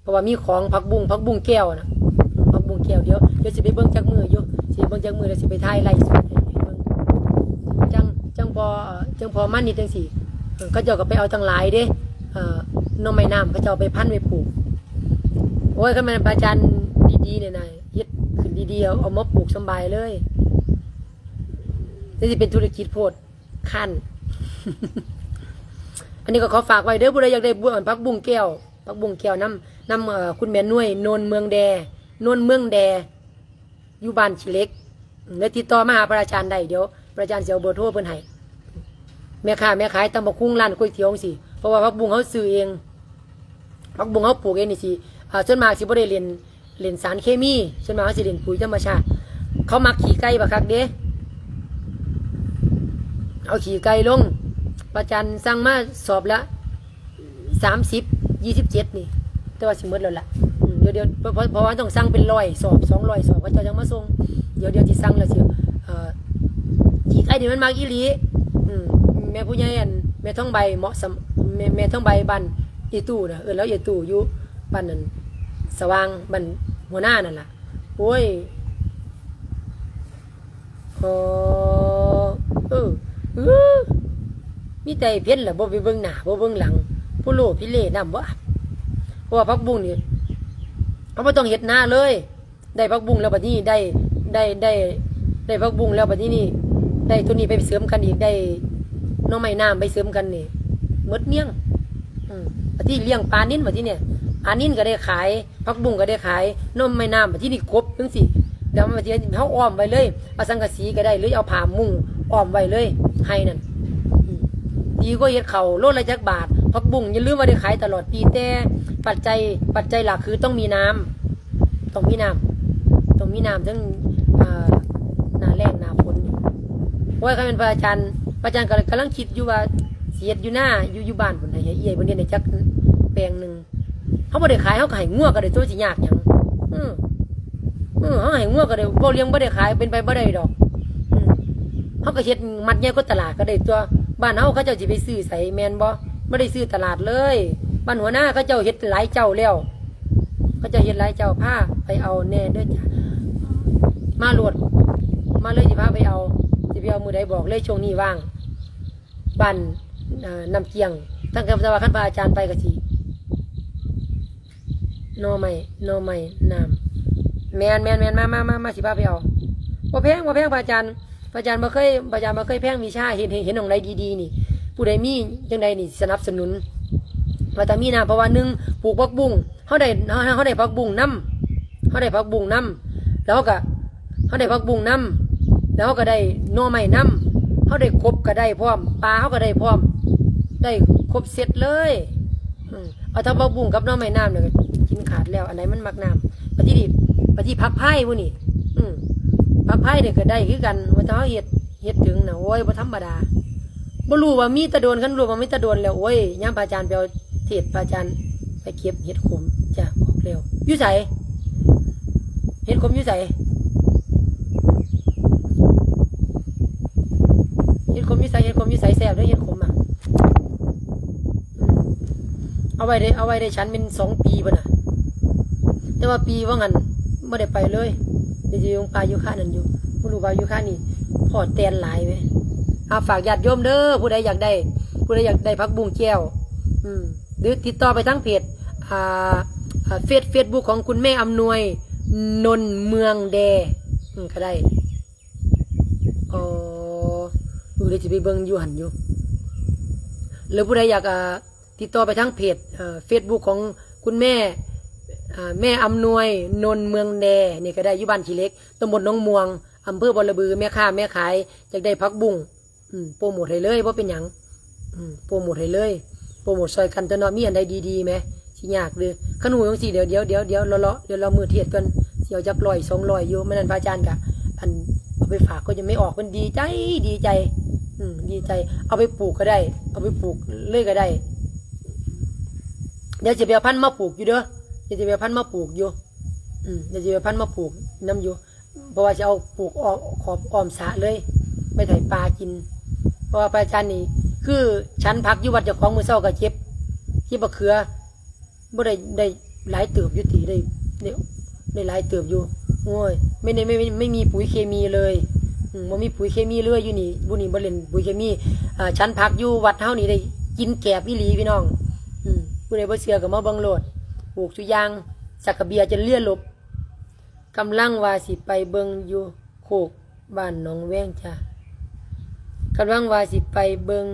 ເພາະວ່າມີຂອງ ຜັກບຸ້ງ ຜັກບຸ້ງແກ້ວນະ ອືມ ຜັກບຸ້ງແກ້ວ. ດຽວ ດຽວຊິໄປເບິ່ງຈັກມື້ຢູ່ ຊິໄປເບິ່ງຈັກມື້ ແລ້ວຊິໄປຖ່າຍໄລຟ໌ສົດໃຫ້ເບິ່ງ ຈັ່ງ ຈັ່ງພໍ ເອີ ຈັ່ງພໍມານິດຈັ່ງຊີ້. ເອີ ເຂົາເຈົ້າກໍໄປເອົາຕັ້ງຫຼາຍເດ້ ເອີ ໜໍ່ໄມ້ນ້ຳ ເຂົາເຈົ້າເອົາໄປພັນໄວ້ປູກ. ໂອ້ຍ ຄັນແມ່ນພະອາຈານດີໆນີ້ນະ ເຮັດຂຶ້ນດີໆ ເອົາ ເອົາມາປູກສຳບາຍເລີຍ ແຕ່ຊິເປັນທຸລະກິດໂພດ ຄັນ ອັນນີ້ກໍຂໍຝາກໄວ້ເດີ ຜູ້ໃດຢາກໄດ້ບຸ້ງ ຜັກບຸ້ງແກ້ວ ຜັກບຸ້ງແກ້ວນຳ ນຳ ເອີ ຄຸນແມ່ນວຍ ໂນນເມືອງແດ ໂນນເມືອງແດ ຢູ່ບ້ານຂີ້ເຫຼັກ ແລ້ວຕິດຕໍ່ມາຫາພະອາຈານໄດ້ ດຽວພະອາຈານຊິເອົາເບີໂທເພິ່ນໃຫ້. ແມ່ຄ້າແມ່ຂາຍຕຳບັກຫຸ່ງ ຮ້ານກ໋ວຍຕຽວຈັ່ງຊີ້ ເພາະວ່າຜັກບຸ້ງເຮົາຊື້ເອງ ຜັກບຸ້ງເຮົາປູກເອງນີ້ຊິ ອ່າ ສ່ວນມາກຊິບໍ່ໄດ້ເຫຼັ້ນ ເຫຼັ້ນສານເຄມີ ສ່ວນມາກເຮົາຊິເຫຼັ້ນປຸ໋ຍທຳມະຊາດ. ເຂົາມັກຂີ້ໄກ່ບັກຄັກເດ້ ເອົາຂີ້ໄກ່ລົງ. ພະອາຈານສັ່ງມາສອບລະສາມສິບ ຊາວເຈັດນີ້ ແຕ່ວ່າຊິໝົດແລ້ວລະ. ອືມ ດຽວ ດຽວ ເພາະ ເພາະວ່າຕ້ອງສັ່ງເປັນຮ້ອຍສອບ ສອງຮ້ອຍສອບ ເຂົາເຈົ້າຈັ່ງມາສົ່ງ. ດຽວ ດຽວຊິສັ່ງແລ້ວຊິ ເອີ ຂີ້ໄກ່ນີ້ມັນມັກອີ່ຫຼີ. ອືມ ແມ່ຜູ້ໃຫຍ່ ອັນ ແມ່ທອງໃບ ເໝາະສຳ ແມ່ ແມ່ທອງໃບ ບ້ານອີ່ຕູ້ນະ ເອີ້ນລາວອີ່ຕູ້ ຢູ່ບ້ານນັ້ນ ສະຫວ່າງ ບ້ານຫົວໜ້ານັ້ນລະ. ໂອ້ຍ ເອີ ເອີ ເອີ ມີແຕ່ເພັນລະ ບໍ່ໄປເບິ່ງໜ້າ ບໍ່ເບິ່ງຫຼັງ ໂພໂລພິເລນຳບໍ່. ເພາະວ່າຜັກບຸ້ງນີ້ ເຮົາບໍ່ຕ້ອງເຮັດນາເລີຍ. ໄດ້ຜັກບຸ້ງແລ້ວບັດນີ້ ໄດ້ ໄດ້ ໄດ້ ໄດ້ຜັກບຸ້ງແລ້ວບັດນີ້ນີ້ ໄດ້ໂຕນີ້ໄປເສີມກັນອີກ ໄດ້ໜໍ່ໄມ້ນ້ຳໄປເສີມກັນນີ້ ໝົດມ້ຽງ. ອືມ ບັດນີ້ລ້ຽງປານິນ ບັດນີ້ນີ້ ປານິນກໍໄດ້ຂາຍ ຜັກບຸ້ງກໍໄດ້ຂາຍ ໜໍ່ໄມ້ນ້ຳ ບັດນີ້ກົບຈັ່ງຊີ້ ແລ້ວບັດນີ້ເຮົາອ້ອມໄວ້ເລີຍ ເອົາສັງກະສີກໍໄດ້ ຫຼືເອົາຜ້າມຸງອ້ອມໄວ້ເລີຍ ໄຮ່ນັ້ນ. ອືມ ດີກວ່າເຮັດເຂົ້າ ໂລລະຈັກບາດ ຜັກບຸ້ງ ຢ່າລືມວ່າໄດ້ຂາຍຕະຫຼອດປີ ແຕ່ປັດໄຈ ປັດໄຈຫຼັກຄືຕ້ອງມີນ້ຳ ຕ້ອງມີນ້ຳ ຕ້ອງມີນ້ຳ ເຖິງ ເອີ ໜ້າແລ້ງໜ້າຝົນ. ໂອ້ຍ ຄັນແມ່ນພະອາຈານ ພະອາຈານກໍກຳລັງຄິດຢູ່ວ່າຊິເຮັດຢູ່ນາ ຢູ່ ຢູ່ບ້ານພຸ້ນ ໃຫ້ເອື້ອຍເພິ່ນເຮັດໃຫ້ຈັກແປງໜຶ່ງ. ເຮົາບໍ່ໄດ້ຂາຍ ເຮົາກໍໃຫ້ງົວກໍໄດ້ຕົວະ ຊິຍາກຫຍັງ. ເອີ ເອີ ເຮົາໃຫ້ງົວກໍໄດ້ ເວົ້າເລື່ອງບໍ່ໄດ້ຂາຍ ເປັນໄປບໍ່ໄດ້ດອກ. ອືມ ເຮົາກໍເຮັດມັດໃຫຍ່ກວ່າຕະຫຼາດກໍໄດ້ຕົວະ. ບ້ານເຮົາເຂົາເຈົ້າຊິໄປຊື້ໃສ ແມ່ນບໍ່? ບໍ່ໄດ້ຊື້ຕະຫຼາດເລີຍ. ບ້ານຫົວໜ້າເຂົາເຈົ້າເຮັດຫຼາຍເຈົ້າແລ້ວ ເຂົາເຈົ້າເຮັດຫຼາຍ ເຈົ້າພາໄປເອົາແດ່ເດີຈ້າ. ມາໂລດ ມາເລີຍ ຊິພາໄປເອົາ. ຊິໄປເອົາມື້ໃດບອກເລີຍ ຊ່ວງນີ້ວ່າງ. ບ້ານ ເອີ ນ້ຳກ້ຽງ ຕັ້ງແຕ່ວ່າຄັນພະອາຈານໄປກໍຊິ ໜໍ່ໄມ້ ໜໍ່ໄມ້ນ້ຳ. ແມ່ນໆໆ ມາໆໆ ຊິພາໄປເອົາ. ບໍ່ແພງ ບໍ່ແພງ ພະອາຈານ ພະອາຈານບໍ່ເຄີຍ ພະອາຈານບໍ່ເຄີຍແພງວິຊາ. ເຫັນ ເຫັນ ເຫັນໝ່ອງໃດດີໆນີ້ ຜູ້ໃດມີຈັ່ງໃດນີ້ ສະໜັບສະໜູນ ວ່າແຕ່ມີນ້ຳ. ເພາະວ່າໜຶ່ງ ປູກຜັກບຸ້ງ ເຮົາໄດ້ ເຮົາ ເຮົາໄດ້ຜັກບຸ້ງນຳ ເຮົາໄດ້ຜັກບຸ້ງນຳ ແລ້ວເຮົາກໍ ເຮົາໄດ້ຜັກບຸ້ງນຳ ແລ້ວເຮົາກໍໄດ້ໜໍ່ໄມ້ນຳ ເຮົາໄດ້ກົບກໍໄດ້ພ້ອມ ປາເຮົາກໍໄດ້ພ້ອມ ໄດ້ຄົບເຊັດເລີຍ. ອືມ ເອົາທັງຜັກບຸ້ງກັບໜໍ່ໄມ້ນ້ຳນີ້ກໍກິນຂາດແລ້ວ. ອັນໃດມັນມັກນ້ຳ ບັດທີນີ້ ບັດທີຜັກພາຍມື້ນີ້ ອືມ ຜັກພາຍນີ້ກໍໄດ້ຄືກັນ ວ່າແຕ່ເຮົາເຮັດ ເຮັດເຖິງນະ ໂອ້ຍ ບໍ່ທຳມະດາ. ບໍ່ຮູ້ວ່າມີແຕ່ດົນ ຄັນຮູ້ວ່າມີແຕ່ດົນແລ້ວ ໂອ້ຍ ຍາມພະອາຈານໄປເອົາເທດ ພະອາຈານໄປເກັບເຫັດຂົມ ຈາກອອກແລ້ວ. ຢູ່ໃສ? ເຫັດຂົມຢູ່ໃສ? ເຫັດຂົມຢູ່ໃສ? ເຫັດຂົມຢູ່ໃສ? ແຊບເດ້ເຫັດຂົມອະ. ອືມ ເອົາໄວ້ໄດ້ ເອົາໄວ້ໄດ້ ສັນເປັນສອງປີພຸ້ນນະ ແຕ່ວ່າປີວ່າງຫັ້ນບໍ່ໄດ້ໄປເລີຍ. ໄດ້ຢູ່ປ່າຢູ່ຄານັ້ນຢູ່ ບໍ່ຮູ້ວ່າຢູ່ຄານີ້ພໍ້ແຕນຫຼາຍເວີຍ. ອາ ຝາກຍາດໂຍມເດີ ຜູ້ໃດຢາກໄດ້ ຜູ້ໃດຢາກໄດ້ຜັກບຸ້ງແຈ່ວ ອືມ ຫຼືຕິດຕໍ່ໄປທາງເພຈ ອາ ອາ ເຟສ ເຟສບຸກຂອງຄຸນແມ່ອຳນວຍ ນົນເມືອງແດ ອືມ ກໍໄດ້. ອໍ ເອີ ດຽວຊິໄປເບິ່ງຢູ່ຫັ້ນຢູ່. ຫຼືຜູ້ໃດຢາກ ອາ ຕິດຕໍ່ໄປທາງເພຈ ເອີ ເຟສບຸກຂອງຄຸນແມ່ ອາ ແມ່ອຳນວຍ ນົນເມືອງແດ ນີ້ກໍໄດ້ ຢູ່ບ້ານຂີ້ເຫຼັກ ຕຳບົນໜອງມ່ວງ ອຳເພີບອລະບື. ແມ່ຄ້າແມ່ຂາຍຢາກໄດ້ຜັກບຸ້ງ ອືມ ໂປຣໂມດໃຫ້ເລີຍ ບໍ່ເປັນຫຍັງ ອືມ ໂປຣໂມດໃຫ້ເລີຍ ໂປຣໂມດຊ່ອຍກັນຕົວເນາະ. ມີອັນໃດດີໆແມ ຊິຍາກເດີ. ຄັນຮູ້ຈັ່ງຊີ້ ດຽວ ດຽວ ດຽວ ດຽວ ລໍໆ ດຽວລໍມື້ເທດກ່ອນ ຊິເອົາຈັກຮ້ອຍສອງຮ້ອຍຢູ່. ມື້ນັ້ນພະອາຈານກະ ອັນ ເອົາໄປຝາກ ກໍຍັງໄມ່ອອກ ເພິ່ນດີໃຈ ດີໃຈ ອືມ ດີໃຈ. ເອົາໄປປູກກໍໄດ້ ເອົາໄປປູກເລີຍກໍໄດ້. ດຽວຊິໄປເອົາພັນມາປູກຢູ່ເດີ ດຽວຊິໄປເອົາພັນມາປູກຢູ່ ອືມ ດຽວຊິໄປເອົາພັນມາປູກນຳຢູ່. ເພາະວ່າຊິເອົາປູກອ້ອມ ຂອບອ້ອມສະເລີຍ ໄວ້ໃຫ້ປາກິນ. ເພາະວ່າພະອາຈານນີ້ ຄື ສັນຜັກຢູ່ວັດເຈົ້າຂອງ ມື້ເຊົ້າກໍເກັບ ເກັບບັກເຂືອ ບໍ່ໄດ້ ໄດ້ຫຼາຍເຕີບຢູ່ຕິ ໄດ້ ໄດ້ ໄດ້ຫຼາຍເຕີບຢູ່. ໂອ້ຍ ໄມ່ໄດ້ ໄມ່ ໄມ່ ໄມ່ມີປຸ໋ຍເຄມີເລີຍ ອືມ ບໍ່ມີປຸ໋ຍເຄມີເລີຍຢູ່ນີ້ ບຸນີ້ບໍ່ຫຼິ້ນປຸ໋ຍເຄມີ. ອາ ສັນຜັກຢູ່ວັດເຮົານີ້ໄດ້ກິນແກບອີ່ຫຼີພີ່ນ້ອງ. ອືມ ຜູ້ໃດບໍ່ເຊື່ອກໍມາເບິ່ງໂລດ ປູກສຸຢ່າງ ສັກກະເບຍຈົນເຫຼືອລົບ. ກຳລັງວ່າຊິໄປເບິ່ງຢູ່ໂຄກບ້ານໜອງແວງຈ້າ. ກຳລັງວ່າຊິໄປເບິ່ງ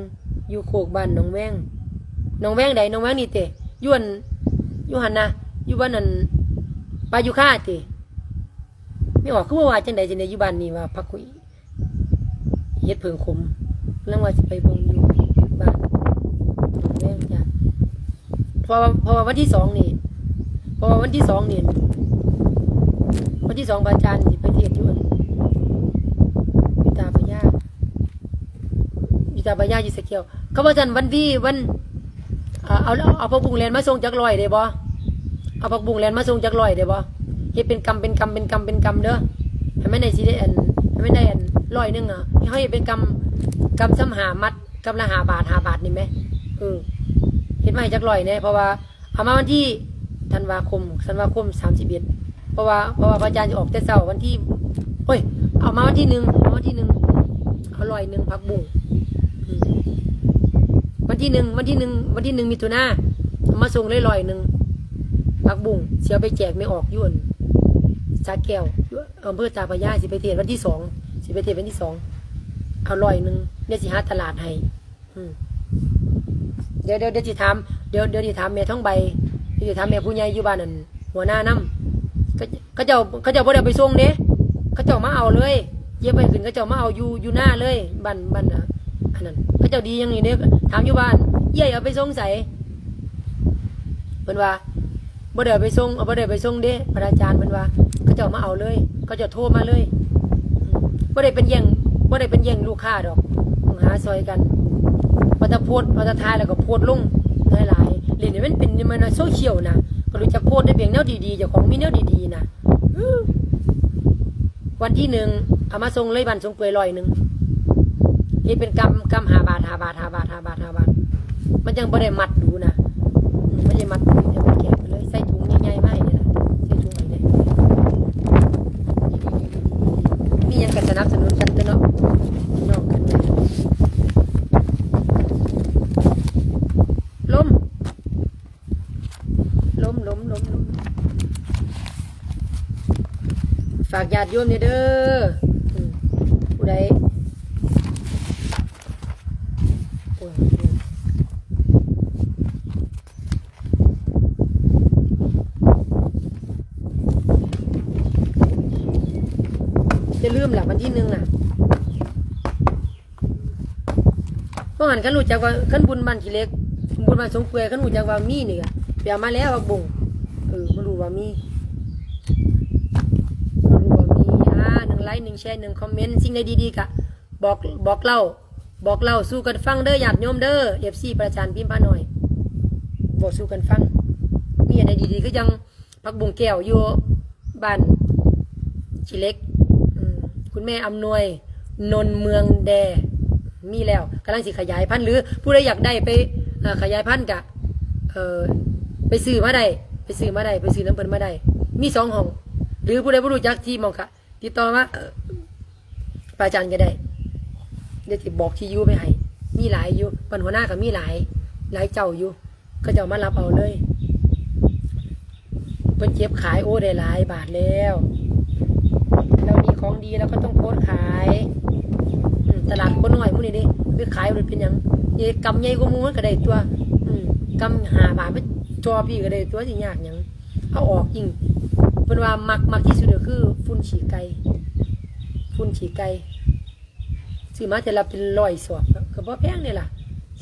ຢູ່ໂຄກບ້ານໜອງແວງ. ໜອງແວງໃດ? ໜອງແວງນີ້ເຕ? ຢູ່ອັນ ຢູ່ຫັ້ນນະ ຢູ່ບ້ານອັນ ປ່າຢູ່ຄາເຕ? ແມ່ອອກຄືວ່າ ວ່າຈັ່ງໃດຈັ່ງໃດ ຢູ່ບ້ານນີ້ວ່າພັກຄຸຍ ເຮັດເຜິ້ງຂົມ. ກຳລັງວ່າຊິໄປເບິ່ງຢູ່ບ້ານໜອງແວງຈ້າ. ເພາະວ່າ ເພາະວ່າວັນທີສອງນີ້ ເພາະວ່າວັນທີສອງນີ້ ວັນທີສອງພະອາຈານຊິໄປເທດຢູ່ອັນ ຢູ່ຕາພະຍາ ຢູ່ຕາພະຍາ ຢູ່ສະແກ້ວ. ເຂົາວ່າຊັ້ນ ວັນທີ ວັນ ເອົາ ເອົາ ເອົາຜັກບຸ້ງແລ່ນມາສົ່ງຈັກຮ້ອຍໄດ້ບໍ່? ເອົາຜັກບຸ້ງແລ່ນມາສົ່ງຈັກຮ້ອຍໄດ້ບໍ່? ເຮັດເປັນກຳ ເປັນກຳ ເປັນກຳ ເປັນກຳເດີ ໃຫ້ມັນໄດ້ ຊິໄດ້ອັນ ໃຫ້ມັນໄດ້ອັນຮ້ອຍໜຶ່ງອະ. ເຮົາເຮັດເປັນກຳ ກຳຊຳຫ້າມັດ ກຳລະຫ້າບາດ ຫ້າບາດນີ້ແໝ. ເອີ ເຮັດມາໃຫ້ຈັກຮ້ອຍແດ່ ເພາະວ່າເອົາມາວັນທີ ທັນວາຄົມ ທັນວາຄົມ ສາມສິບເອັດ ເພາະວ່າ ເພາະວ່າພະອາຈານຊິອອກແຕ່ເຊົ້າວັນທີ ໂອ້ຍ ເອົາມາວັນທີໜຶ່ງ ເອົາວັນທີໜຶ່ງ ເອົາຮ້ອຍໜຶ່ງຜັກບຸ້ງ. ອືມ ວັນທີໜຶ່ງ ວັນທີໜຶ່ງ ວັນທີໜຶ່ງມິຖຸນາ ເອົາມາສົ່ງເລີຍຮ້ອຍໜຶ່ງຜັກບຸ້ງ ຊິເອົາໄປແຈກແມ່ອອກຢູ່ອັນສະແກ້ວ ຢູ່ອຳເພີຕາພະຍາ. ຊິໄປເທດວັນທີສອງ ຊິໄປເທດວັນທີສອງ ເອົາຮ້ອຍໜຶ່ງ ດຽວຊິຫາຕະຫຼາດໃຫ້. ອືມ ດຽວ ດຽວ ດຽວຊິຖາມ ດຽວ ດຽວຊິຖາມແມ່ທອງໃບ ດຽວຊິຖາມແມ່ຜູ້ໃຫຍ່ຢູ່ບ້ານນັ້ນ ຫົວໜ້ານຳ. ເຂົາ ເຂົາເຈົ້າ ເຂົາເຈົ້າບໍ່ໄດ້ເອົາໄປສົ່ງເດ້ ເຂົາເຈົ້າມາເອົາເລີຍ ເກັບໄວ້ຂຶ້ນ ເຂົາເຈົ້າມາເອົາຢູ່ ຢູ່ນາເລີຍ ບ້ານ ບ້ານ ອັນນັ້ນ. ເຂົາເຈົ້າດີຢ່າງນີ້ເດ້ ຖາມຢູ່ບ້ານ ເອື້ອຍເອົາໄປສົ່ງໃສ? ເພິ່ນວ່າ ບໍ່ໄດ້ເອົາໄປສົ່ງ ບໍ່ໄດ້ໄປສົ່ງເດ້ ພະອາຈານ ເພິ່ນວ່າ ເຂົາເຈົ້າມາເອົາເລີຍ ເຂົາເຈົ້າໂທມາເລີຍ. ອືມ ບໍ່ໄດ້ເປັນແຍ່ງ ບໍ່ໄດ້ເປັນແຍ່ງລູກຄ້າດອກ ຕ້ອງຫາຊ່ອຍກັນ. ວ່າແຕ່ໂພສ ວ່າແຕ່ຖ່າຍແລ້ວກໍໂພສລົງຫຼາຍໆ ເຫຼົ່ນໃຫ້ມັນເປັນ ມັນໂຊຊຽວນະ. ກໍຮູ້ຈັກໂພສໃນເບງແນວດີໆ ເຈົ້າຂອງມີແນວດີໆນະ. ວັນທີໜຶ່ງ ເອົາມາສົ່ງເລີຍ ບ້ານສົງເປືອຍ ຮ້ອຍໜຶ່ງ ເຮັດເປັນກຳ ກຳຫ້າບາດ ຫ້າບາດ ຫ້າບາດ ຫ້າບາດ ຫ້າບາດ ຫ້າບາດ. ມັນຈັ່ງບໍ່ໄດ້ມັດດູນະ ອືມ ບໍ່ໄດ້ມັດດູ ແຕ່ມັນແກະໄປເລີຍ ໃສ່ຖົງໃຫຍ່ໆມາໃຫ້ນີ້ລະ. ລົມ ລົມ ລົມ ລົມ ຝາກຍາດໂຍມແດ່ເດີ. ອືມ ຜູ້ໃດ ໂອ້ຍ ຢ່າລືມລະ ວັນທີໜຶ່ງນະ. ເພາະນັ້ນ ຄັນຮູ້ຈັກວ່າ ຄັນບຸນບ້ານຂີ້ເຫຼັກ ບຸນບ້ານສົງເປື່ອຍ ຄັນຮູ້ຈັກວ່າມີນີ້ກະໄປເອົາມາແລ້ວ ຜັກບົ້ງ. ເອີ ບໍ່ຮູ້ວ່າມີ ບໍ່ຮູ້ວ່າມີ. ອ່າ ໜຶ່ງໄລຄ໌ ໜຶ່ງແຊຣ ໜຶ່ງຄອມເມັນ ສິ່ງໃດດີໆກະບອກ ບອກເລົ່າ ບອກເລົ່າສູ່ກັນຟັງເດີ ຍາດໂຍມເດີ ເອັຟຊີ ພະອາຈານພິມພານ້ອຍ ເວົ້າສູ່ກັນຟັງ. ມີອັນໃດດີໆ ຄືຈັ່ງ ຜັກບຸ້ງແກ້ວຢູ່ບ້ານຂີ້ເຫຼັກ ອືມ ຄຸນແມ່ອຳນວຍ ນົນເມືອງແດ່ ມີແລ້ວ ກຳລັງຊິຂະຫຍາຍພັນ ຫຼື ຜູ້ໃດຢາກໄດ້ໄປ ເອີ ຂະຫຍາຍພັນກະ ເອີ ໄປຊື້ມາໄດ້ ໄປຊື້ມາໄດ້ ໄປຊື້ນຳເພິ່ນມາໄດ້ ມີສອງຫ້ອງ ຫຼື ຜູ້ໃດບໍ່ຮູ້ຈັກທີ່ໝ່ອງກະ ຕິດຕໍ່ມາ ເອີ ພະອາຈານກໍໄດ້ ດຽວຊິບອກທີ່ຢູ່ໄປໃຫ້ ມີຫຼາຍຢູ່ ບ້ານຫົວນາກໍມີຫຼາຍ ຫຼາຍເຈົ້າຢູ່ ເຂົາເຈົ້າມາຮັບເອົາເລີຍ ເພິ່ນເກັບຂາຍ ໂອ້ ໄດ້ຫຼາຍບາດແລ້ວ ເຮົາມີຂອງດີ ເຮົາກໍຕ້ອງໂພສຂາຍ ອືມ ຕະຫຼາດຄົນນ້ອຍໝູ່ນີ້ເດ້ ໄປຂາຍມັນເປັນຫຍັງ ເອີ ກຳໃຫຍ່ກວ່າໝູ່ມັນກໍໄດ້ຕົວະ ອືມ ກຳຫ້າບາດ ໄປຕໍ່ພີ້ກໍໄດ້ຕົວະ ຊິຍາກຫຍັງ. ເອົາອອກອີງ ເພິ່ນວ່າມັກ ມັກທີ່ສຸດກໍຄືຝຸ່ນຂີ້ໄກ່ ຝຸ່ນຂີ້ໄກ່ ຊື້ມາເທື່ອລະເປັນຮ້ອຍສອບ ກໍບໍ່ແພງເດ້ລະ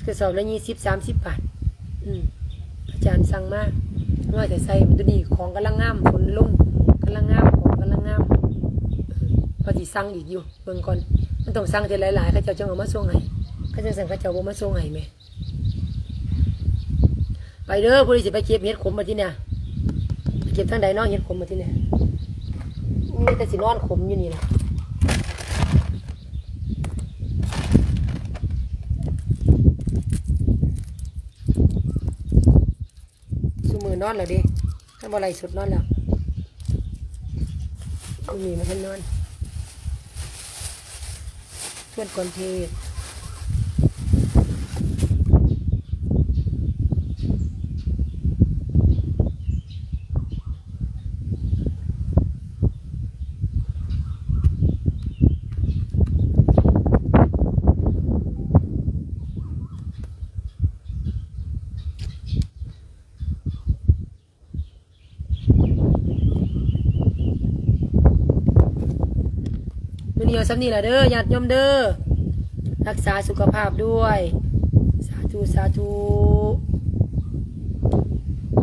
ກະສອບລະຊາວ ສາມສິບບາດ ອືມ ອາຈານສັ່ງມາ ນ້ອຍແຕ່ໃສ່ ໂຕນີ້ຂອງກຳລັງງາມ ຝົນລົງກຳລັງງາມ ຂອງກຳລັງງາມ ອືມ ວ່າຊິສັ່ງອີກຢູ່ ເບິ່ງກ່ອນ ມັນຕ້ອງສັ່ງເທື່ອຫຼາຍໆ ເຂົາເຈົ້າຈຶ່ງເອົາມາສົ່ງໃຫ້ ຄັນຈັ່ງຊັ້ນເຂົາເຈົ້າບໍ່ມາສົ່ງໃຫ້ແໝ່. ໄປເດີ ຜູ້ໃດຊິໄປເກັບເຫັດຂົມບັດທີນີ້ ໄປເກັບທາງໃດເນາະ ເຫັດຂົມບັດທີນີ້ ມີແຕ່ຊິນອນຂົມຢູ່ນີ້ລະ ຊຸມື້ນອນແລ້ວເດ້ ຄັນບໍ່ໄລຟ໌ສົດນອນແລ້ວ ມື້ນີ້ບໍ່ທັນນອນ ຊວນກ່ອນເທດ. ມື້ນີ້ເອົາສ່ຳນີ້ລະເດີ ຍາດໂຍມເດີ ຮັກສາສຸຂະພາບດ້ວຍ ສາທຸ ສາທຸ.